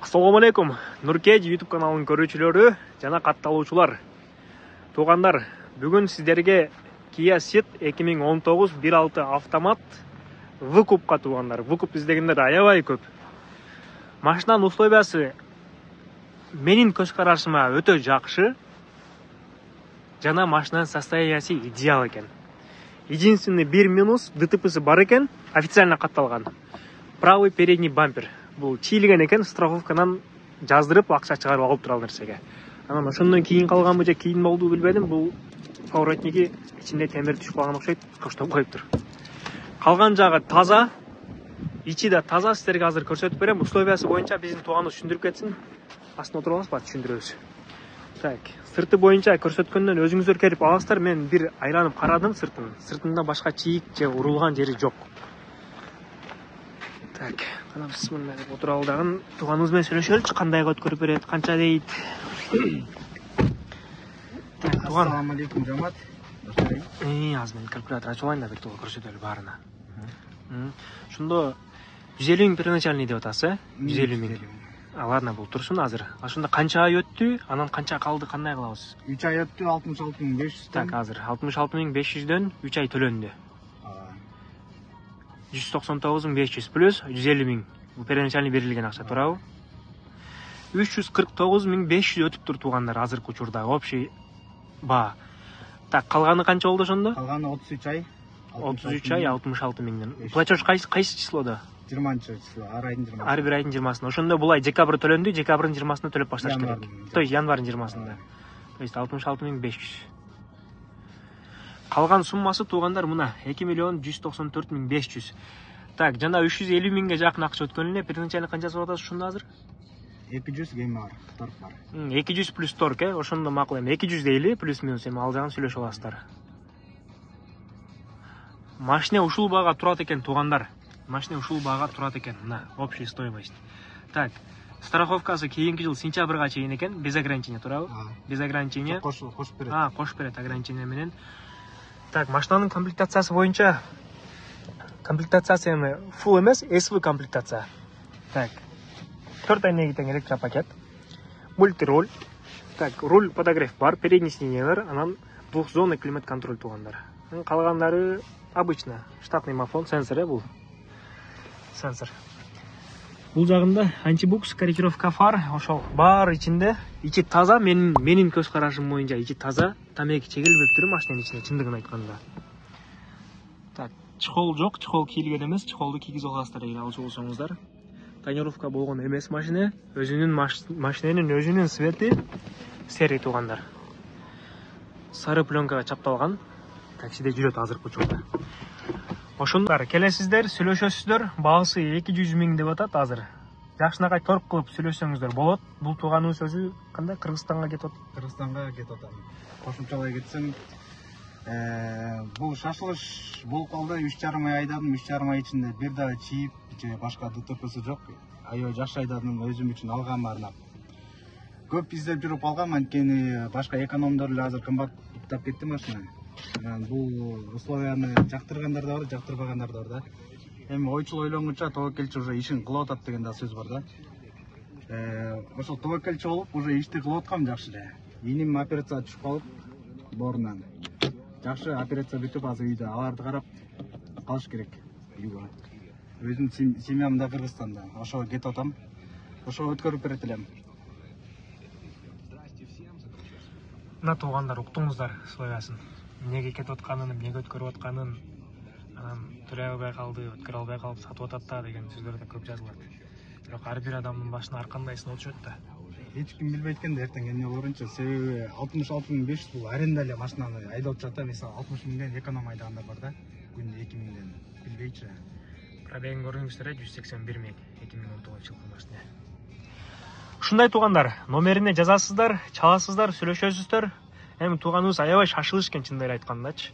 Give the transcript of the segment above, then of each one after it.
Assalamu alaikum. Nurkej YouTube kanalынын көрүүчүлөрү жана катталуучулар. Туугандар, бүгүн сиздерге Kia Ceed 2019 1.6 автомат выкупка туугандар. Выкуп издегендер аябай көп. Машинанын условиясы менин көз карашыма өтө жакшы. Жана машинанын состояниясы идеал экен. Единственный бир минус ДТПсы бар экен, официально катталган. Правый передний бампер. Бул чийлеген экен, страховканан жаздырып акча чыгарып алып тура ал нерсеге. Анан ошондон кийин калганбы же кийин болду билбедим. Бул поворотниги ичинде темир түшүп калган окшойт, коштоп коюптур. Калган жагы таза, ичи да таза. Сиздерге азыр көрсөтүп берем. Условиясы боюнча биздин тууганыбыз түшүндүрүп кетсин. Астына отуруп аласызбы, түшүндүрөбүз. Так, сырты боюнча көрсөткөндөн өзүңүздөр келип аласыздар. Мен бир айланып карадым сыртын. Сыртында башка чийик же урулган жери жок. Так, кана бисмилла деп отуралы дагы тууганыбыз менен сүйлөшөлүчү, кандайга өткөрүп берет, канча дейт. Так, тууган. Ассаламу алейкум, жамаат. Азыр мен калькулятор ачып алайын да бир толук көрсөтөлү баарына. Ошондо 150 миң первоначальный деп атасыз, 150 миң. Ладно, бул турсун азыр. Ошондо канча ай өттү, анан канча калды, кандай кылабыз? 3 ай өттү, 66.500. Так, азыр 66.500дөн 3 ай төлөндү. 199.500 плюс 150 миң. Бул первоначальный берилген акча, туурабы? 349.500 өтүптүр туугандар азыркы учурда общий баа. Так, калганы канча болду ошондо? Калганы 33 ай. 33 ай 66 миңден. Платеж кайсы числодо? 20-число, ар айдын 20-сында. Ар бир айдын 20-сында. Ошондо бул ай декабрь төлөндү, декабрдын 20-сында төлөп башташ керек. То есть январь 20-сында. То есть 66.500. Калган суммасы туугандар мына 2.194.500. Так, жана 350 миңге жакын акча өткөн эле. Первоначально канчасы болот ошондо азыр? 200 кем бар, торг бар. 200 плюс торг, ошондо макул эми 200 дейли, плюс минус эми ал жагын сүйлөшүп аласыздар. Машина ушул баага турат экен туугандар. Машина ушул баага турат экен. Мына общая стоимость. Так, страховкасы кийинки жыл сентябрга чейин экен, без ограничения, туурабы? Без ограничения. Кошуп берет. Кошуп берет ограничение менен. Так, машинанын комплектациясы боюнча комплектациясы эми full эмес, SV комплектация. Так, 4 айнеги тең электропакет, мультируль. Так, руль подогрев бар, передний сиденье бар, анан двухзонный климат контроль туугандар. Калгандары обычно штатный мафон, сенсор бул. Сенсор. Бул жагында антибукс, корректировка фар, ошол бар ичинде. Ичи таза, менин көз карашым боюнча ичи таза. Тамеки чегилбептир машинанын ичинде, чындыгын айтканда. Так, чехол жок, чехол кийилген эмес, чехолду кийгизе аласыздар эгер алчу болсоңуздар. Тонировка болгон эмес машина, машинанын өзүнүн цвети серый туугандар. Сары пленкага чапталган. Таксиде жүрөт азыркы учурда. Ошондор келесиздер, сүйлөшөсүздөр. Баасы 200 миң деп атат азыр. Жакшынакай торг кылып сүйлөшсөңүздөр болот. Бул тууганыбыз өзү кандай Кыргызстанга кетип атат? Кыргызстанга кетип атам. Кошумчалай кетсем, бул шашылыш болуп калды. 3,5 ай айдадым, 3,5 ай ичинде бир да чийип, же башка ДТПсы жок. Аябай жакшы айдадым, өзүм үчүн алгам арнап. Көп издеп жүрүп алгам, анткени башка экономдор эле азыр кымбаттап кетти машина. Бул условияны жактыргандар да бар, жактырбагандар да бар да. Эми ойчул ойлонгуча тобокелчи уже ишин кылып атат деген да сөз бар да. Ошол тобокелчи болуп уже ишти кылып аткам жакшы эле. Иним операцияга түшүп калып, боорунан. Жакшы операция бүтүп, азыр үйдө аларды карап калыш керек. Өзүм семьям да Кыргызстанда. Ошого кетип атам. Ошого өткөрүп берет элем. Мына туугандар уктуңуздар условиясын. Эмнеге кетип атканын, эмнеге өткөрүп атканын, анан төлөй албай калды, өткөрө албай калып сатып атат да деген сөздөр да көп жазылат. Бирок ар бир адамдын башына ар кандай сыноо түшөт да. Эч ким билбейт экен да эртең эмне болорунчу. Себеби 66.500 бул аренда эле машинаны айдап жатат. Мисалы 60 миңден эконом айдагандар бар да. Күндө 2 миңден. Билбейчи. Пробегин көрдүңүздөр, 181 миң 2019 жылкы машина. Ушундай туугандар, номерине жазасыздар, чаласыздар, сүйлөшөсүздөр. Эми тууганыбыз аябай шашылыш экен чындыгын айткандачы.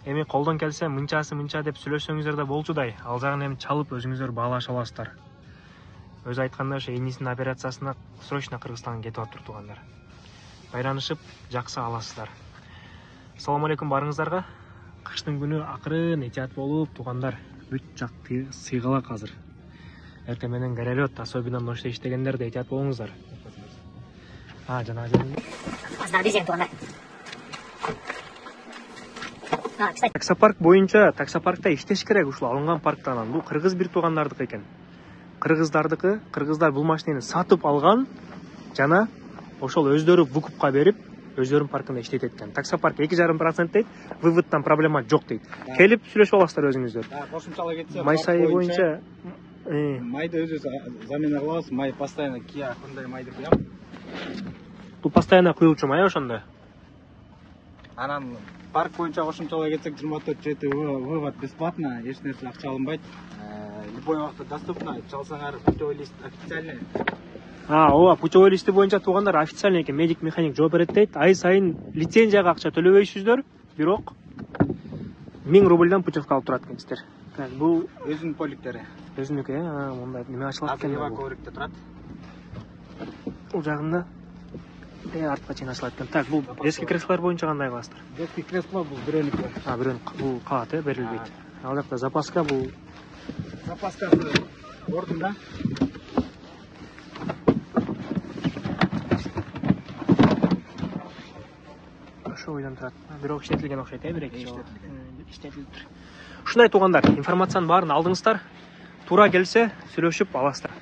Эми колдон келсе мынчасы мынча деп сүйлөшсөңүздөр да болчудай. Ал жагын эми чалып өзүңүздөр баалаша аласыздар. Өзү айтканда ошо энисинин операциясына срочно Кыргызстанга кетип атыптыр туугандар. Байранышып, жаксы аласыздар. Ассаламу алейкум барыңыздарга. Кыштын күнү акырын этият болуп туугандар. Бүт жак сыйгалак азыр. эртең менен горелет, особенно ночтой иштегендер да этият болуңуздар. Жана Аздар бизен туганда. Кстати. Таксопарк боюнча таксопаркта иштеш керек ушул алынган парктан. Бул кыргыз бир туугандардыкы экен. Кыргыздардыкы, кыргыздар бул машинени сатып алган жана ошол өздөрү выкупка берип, өздөрүнүн паркында иштетет экен. Таксопарк 2,5% дейт, выводтан проблема жок дейт. Келип сүйлөшүп аласыздар өзүңүздөр. Кошумчалай кетсе, Май сайы боюнча майды өзүбүз замена кылабыз. Май постоянно Kia Hyundai майды куям. бул постоянно куюлчу май ошондо. Анан парк боюнча кошумчалай кетсек 24/7 вывод бесплатно, эч нерсе акча алынбайт. Любой убакта доступно, чалсаңар путевой лист официальный. Ооба, путевой листи боюнча туугандар официальный экен, медик механик жооп берет дейт. Ай сайын лицензияга акча төлөбөйсүздөр, бирок 1000 рубльдан путевка алып турат экенсиздер. Так, бул Өзүнүн поликтери. өзүнүкү, мындай неме ачылат экен. Коврикте турат. Бул жагында артка чейин ачылат экен. Так, бул детский креслолор боюнча кандай кыласыздар? Детский кресло бул бирөөнүкү. Бирөөнүк бул калат, берилбейт. Ал жакта запаска бул Запаскасы ордунда. ошо ойдон турат. Бирок иштетилген окшойт, бир-эки жолу. Иштетилиптир. Ушундай туугандар, информациянын баарын алдыңыздар. Туура келсе сүйлөшүп аласыздар.